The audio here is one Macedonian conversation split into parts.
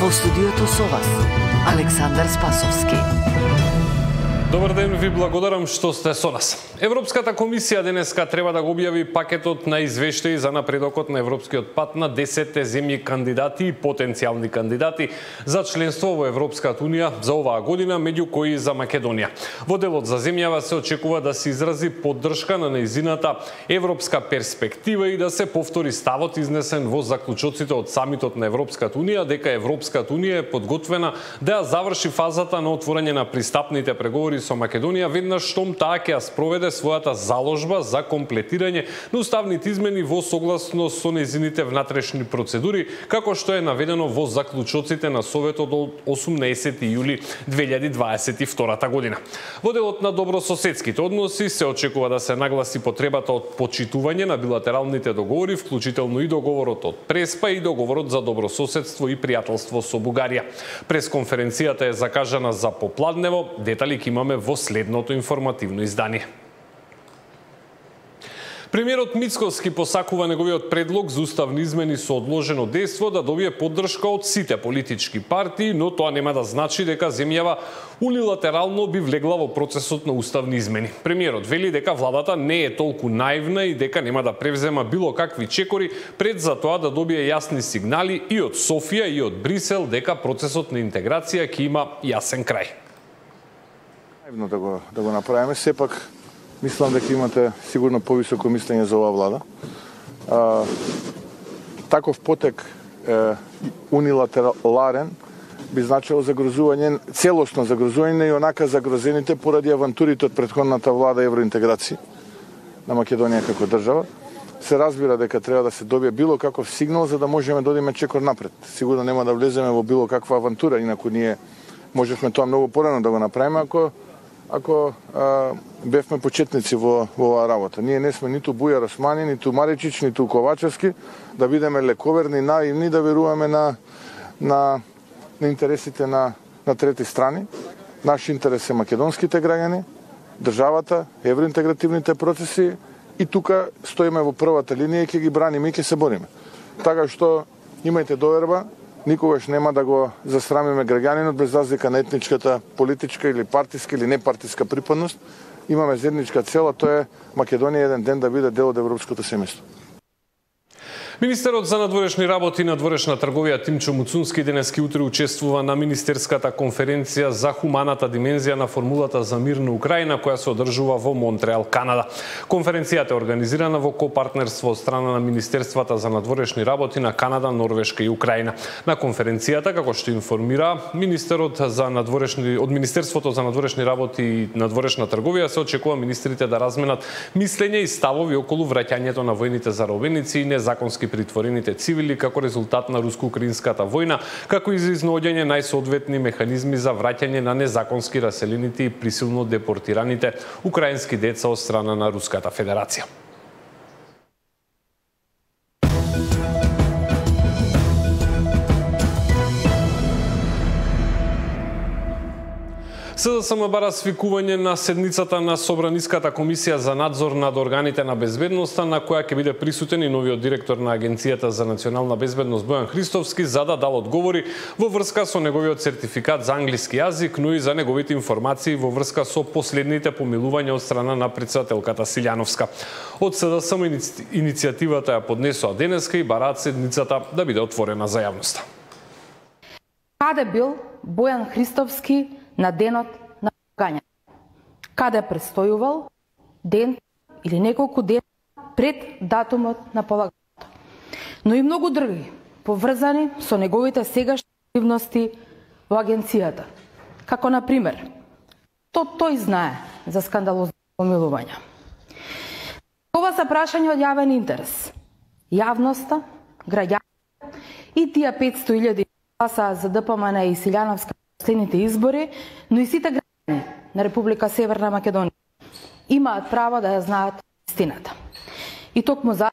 Во студиото со вас, Александар Спасовски. Добар ден, ви благодарам што сте со нас. Европската комисија денеска треба да го објави пакетот на извештаи за напредокот на европскиот пат на 10 земји кандидати и потенцијални кандидати за членство во Европската унија за оваа година, меѓу кои и за Македонија. Во делот за земјава се очекува да се изрази поддршка на нејзината европска перспектива и да се повтори ставот изнесен во заклучоците од самитот на Европската унија дека Европската унија е подготвена да ја заврши фазата на отворање на пристапните преговори со Македонија веднаш штом таа ќе ја спроведе својата заложба за комплетирање на уставните измени во согласност со нејзините внатрешни процедури, како што е наведено во заклучоците на Советот од 18 јули 2022 година. Во делот на добрососедските односи се очекува да се нагласи потребата од почитување на билатералните договори, вклучително и договорот од Преспа и договорот за добрососедство и пријателство со Бугарија. Пресконференцијата е закажана за попладнево, детали ќе имаме во следното информативно издание. Премиерот Мицкоски посакува неговиот предлог за уставни измени со одложено дејство да добие поддршка од сите политички партии, но тоа нема да значи дека земјава унилатерално би влегла во процесот на уставни измени. Премиерот вели дека владата не е толку наивна и дека нема да превзема било какви чекори пред за тоа да добие јасни сигнали и од Софија и од Брисел дека процесот на интеграција ќе има јасен крај. Да го направиме, сепак мислам дека имате сигурно повисоко мислење за оваа влада. Таков потек унилатерален би значило загрозување, целосно загрозување и онака загрозените поради авантурите од претходната влада евроинтеграција на Македонија како држава. Се разбира дека треба да се добие било каков сигнал за да можеме да одиме чекор напред. Сигурно нема да влеземе во било каква авантура, инаку ние можевме тоа многу порано да го направиме ако бевме почетници во оваа работа. Ние не сме ниту Бујар Османи, ниту Маричич, ниту Ковачевски, да бидеме лековерни, наивни, да веруваме на интересите на трети страни. Наш интерес е македонските граѓани, државата, евроинтегративните процеси и тука стоиме во првата линија и ќе ги браниме и ќе се бориме. Така што имајте доверба, никогаш нема да го засрамиме граѓанинот без разлика на етничката, политичка или партиска или непартиска припадност. Имаме заедничка цел, а тоа е Македонија еден ден да биде дел од европското семејство. Министерот за надворешни работи и надворешна трговија Тимчо Муцунски денески утре учествува на Министерската конференција за хуманата димензија на формулата за мир на Украина, која се одржува во Монтреал, Канада. Конференцијата е организирана во копартнерство од страна на Министерствата за надворешни работи на Канада, Норвешка и Украина. На конференцијата, како што информира Министерството за надворешни работи и надворешна трговија, се очекува министрите да разменат мислења и ставови околу враќањето на војните заробеници и незаконски притворените цивили како резултат на руско-украинската војна, како и за изнаоѓање најсоодветни механизми за враќање на незаконски раселените и присилно депортираните украински деца од страна на Руската Федерација. СДСМ бара свикување на седницата на Собраниската комисија за надзор над органите на безбедноста, на која ќе биде присутен и новиот директор на Агенцијата за национална безбедност Бојан Христовски, за да дал одговори во врска со неговиот сертификат за англиски јазик, но и за неговите информации во врска со последните помилувања од страна на претседателката Силјановска. Од СДСМ иницијативата ја поднесоа денеска и бараат седницата да биде отворена за јавноста. Каде бил Бојан Христовски на денот на полагање? Каде престојувал ден или неколку дена пред датумот на полагањето? Но и многу други, поврзани со неговите сегашни активности во агенцијата. Како, например, тој знае за скандалозни помилувања. Ова се прашања од јавен интерес. Јавноста, граѓаните и тие 500.000 гласа за ДПМН и Силјановска последните избори, но и сите граѓани на Република Северна Македонија имаат право да ја знаат истината. И токму за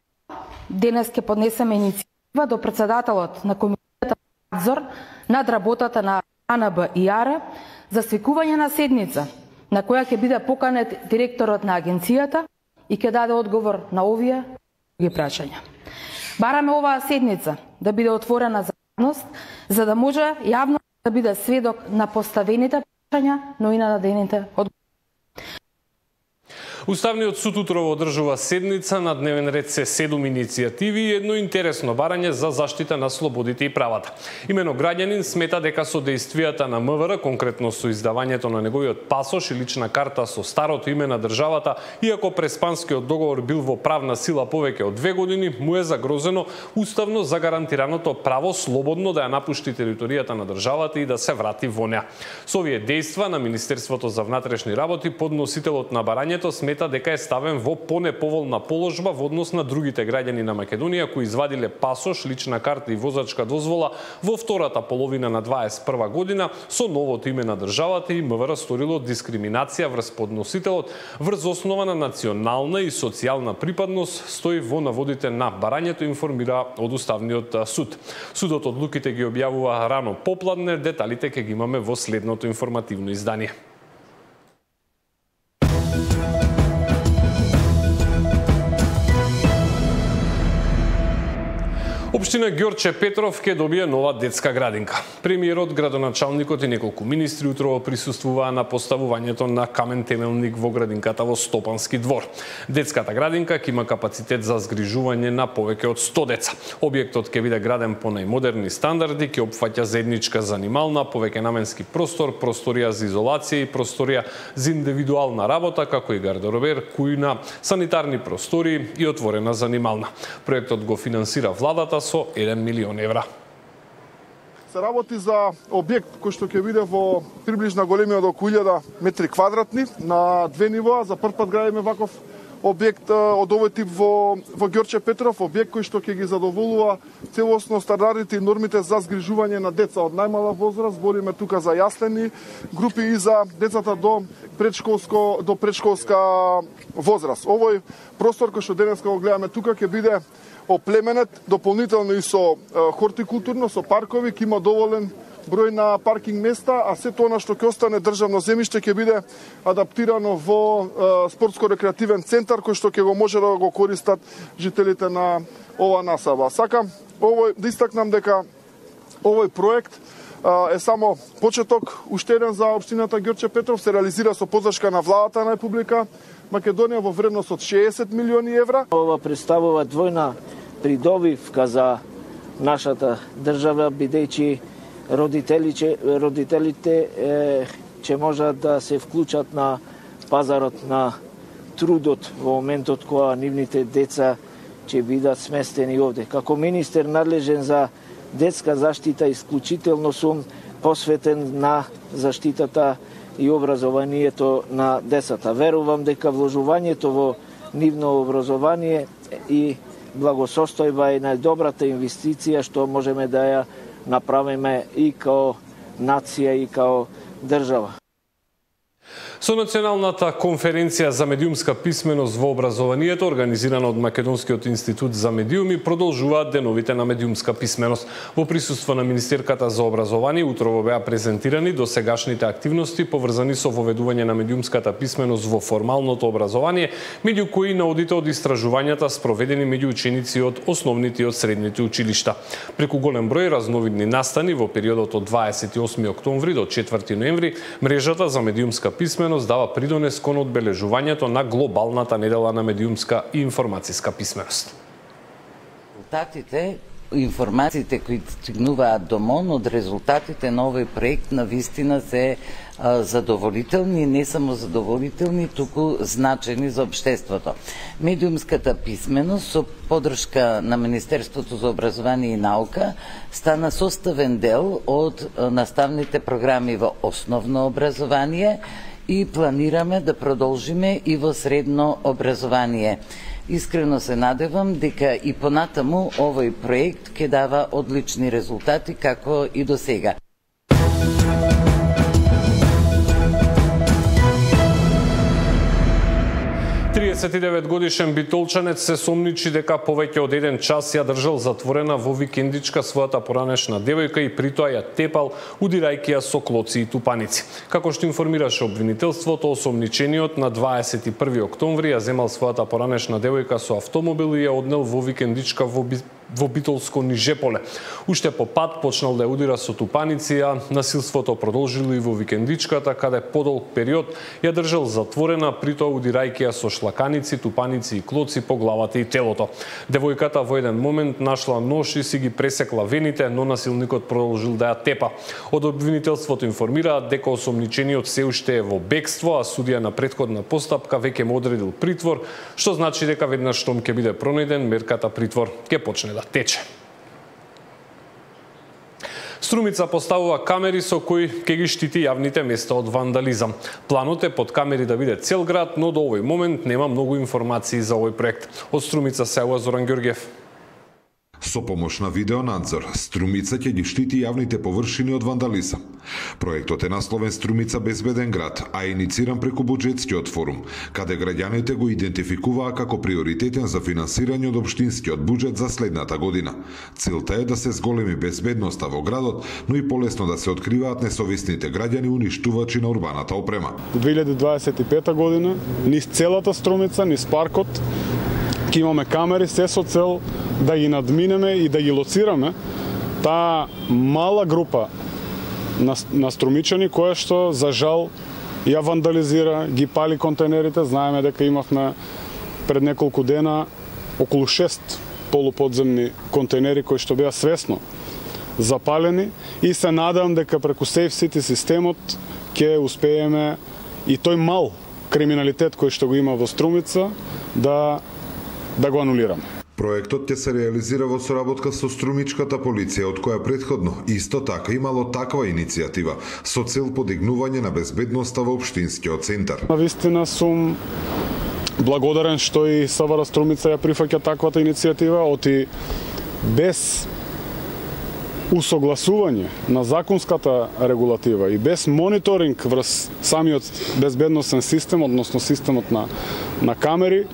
денес ќе поднесеме иницијатива до претседателот на Комисијата за надзор над работата на АНБ и АР за свикување на седница на која ќе биде поканет директорот на агенцијата и ќе даде одговор на овие други прашања. Бараме оваа седница да биде отворена за за да може јавно да биде сведок на поставените прашања, но и на дадените одговори. Уставниот суд утрово одржува седница, на дневен ред се 7 иницијативи и едно интересно барање за заштита на слободите и правата. Имено граѓанин смета дека со действијата на МВР, конкретно со издавањето на неговиот пасош и лична карта со старото име на државата, иако преспанскиот договор бил во правна сила повеќе од 2 години, му е загрозено уставно загарантираното право слободно да ја напушти територијата на државата и да се врати во неа. Со овие дејства на Министерството за внатрешни работи, подносителот на барањето смета дека е ставен во понеповолна положба во однос на другите граѓани на Македонија кои извадиле пасош, лична карта и возачка дозвола во втората половина на 21 година со новото име на државата и МВР сторило дискриминација врз подносителот врз основа на национална и социјална припадност, стои во наводите на барањето, информира од Уставниот суд. Судот одлуките ги објавува рано попладне, деталите ќе ги имаме во следното информативно издание. Општина Ѓорче Петров ќе добие нова детска градинка. Премиерот, градоначалникот и неколку министри утрово присуствуваа на поставувањето на камен темелник во градинката во Стопански двор. Детската градинка ќе има капацитет за згрижување на повеќе од 100 деца. Објектот ќе биде граден по најмодерни стандарди, ќе опфаќа заедничка занимална, повеќе наменски простор, просторија за изолација и просторија за индивидуална работа, како и гардеробер, кујна, санитарни простори и отворена занимална. Проектот го финансира владата со 1 милион евра. Се работи за објект кој што ќе биде во приближна големина до 1000 метри квадратни на 2 нивоа. За прв пат градиме ваков објект од овој тип во Ѓорче Петров, објект кој што ќе ги задоволува целосно стандардите и нормите за згрижување на деца од најмала возраст. Збориме тука за јаслени групи и за децата до предшколска возраст. Овој простор кој што денеска го гледаме тука ќе биде оплеменет дополнително и со хортикултурно, со паркови, ќе има доволен број на паркинг места, а сето она што ќе остане државно земјиште ќе биде адаптирано во спортско-рекреативен центар кој што ќе го може да го користат жителите на ова насаба. Сакам да истакнам дека овој проект е само почеток, уште еден за општината Ѓорче Петров, се реализира со поддршка на владата на Република Македонија во вредност од 60 милиони евра. Ова представува двојна придобивка за нашата држава, бидејќи родителите ќе можат да се вклучат на пазарот на трудот во моментот кога нивните деца ќе бидат сместени овде. Како министер надлежен за детска заштита, исклучително сум посветен на заштитата и образованието на децата. Верувам дека вложувањето во нивно образование и благосостојба е најдобрата инвестиција што можеме да ја направиме и као нација и као држава. Со Националната конференција за медиумска писменост во образованието, организирана од Македонскиот институт за медиуми, продолжуваат деновите на медиумска писменост. Во присуство на Министерката за образование утрово беа презентирани досегашните активности поврзани со воведување на медиумската писменост во формалното образование, меѓу кои наодите од истражувањата спроведени меѓу ученици од основните и од средните училишта. Преку голем број разновидни настани во периодот од 28 октомври до 4 ноември, мрежата за медиумска писменост дава придонес кон одбележувањето на глобалната недела на медиумска и информацијска писменост. Резултатите, информациите кои стигнуваат до МОН од резултатите на овој проект на вистина се задоволителни, не само задоволителни, туку значени за општеството. Медиумската писменост со поддршка на Министерството за образование и наука стана составен дел од наставните програми во основно образование и планираме да продолжиме и во средно образование. Искрено се надевам дека и понатаму овој проект ќе дава одлични резултати како и до сега. 39-годишен битолчанец се сомничи дека повеќе од 1 час ја држал затворена во викендичка својата поранешна девојка и притоа ја тепал, удирајќи ја со клоци и тупаници. Како што информираше обвинителството, осомничениот на 21 октомври ја земал својата поранешна девојка со автомобил и ја однел во викендичка во во Битолско Нижеполе. Уште по пат почнал да удира со тупаници, а насилството продолжило и во викендичката, каде подолг период ја држал затворена, притоа удирајќи ја со шлаканици, тупаници и клоци по главата и телото. Девојката во еден момент нашла нож и си ги пресекла вените, но насилникот продолжил да ја тепа. Од обвинителството информираат дека осомничениот се уште е во бегство, а судија на претходна постапка веќе му одредил притвор, што значи дека веднаш штом ќе биде пронајден, мерката притвор ќе почне да тече. Струмица поставува камери со кои ќе ги штити јавните места од вандализам. Планот е под камери да биде цел град, но до овој момент нема многу информации за овој проект. Од Струмица се јавува Зоран Ѓорѓев. Со помош на видеонадзор, Струмица ќе ги штити јавните површини од вандализам. Проектот е насловен Струмица безбеден град, а инициран преку буџетскиот форум, каде граѓаните го идентификуваа како приоритетен за финансирање од општинскиот буџет за следната година. Целта е да се зголеми безбедноста во градот, но и полесно да се откриваат несовесните граѓани уништувачи на урбаната опрема. 2025 година, низ целата Струмица, низ паркот, ќе имаме камери се со цел да ги надминеме и да ги лоцираме таа мала група на струмичани која што за жал ја вандализира, ги пали контейнерите. Знаеме дека имавме пред неколку дена околу 6 полуподземни контейнери кои што беа свесно запалени и се надам дека преку Safe City системот ќе успееме и тој мал криминалитет кој што го има во Струмица да го анулираме. Проектот ќе се реализира во соработка со струмичката полиција, од која претходно исто така имало таква иницијатива со цел подигнување на безбедноста во општинскиот центар. Навистина сум благодарен што и СВР Струмица ја прифаќа таквата иницијатива, оти без усогласување на законската регулатива и без мониторинг врз самиот безбедносен систем, односно системот на камери,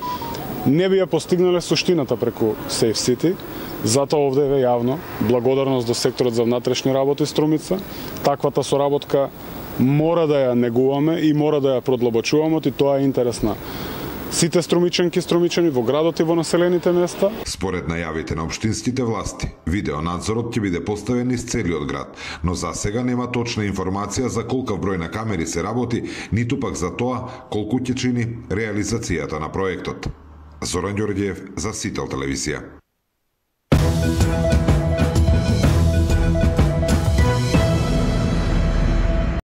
не би ја постигнале суштината преку Safe City. Затоа овде е јавно благодарност до секторот за внатрешни работи Струмица. Таквата соработка мора да ја негуваме и мора да ја продлабочуваме, и тоа е интерес на сите струмичанки и струмичани во градот и во населените места. Според најавите на општинските власти, видеонадзорот ќе биде поставен низ целиот град, но за сега нема точна информација за колкав број на камери се работи, ниту пак за тоа колку ќе чини реализацијата на проектот. Зоран Ѓорѓиев за Сител телевизија.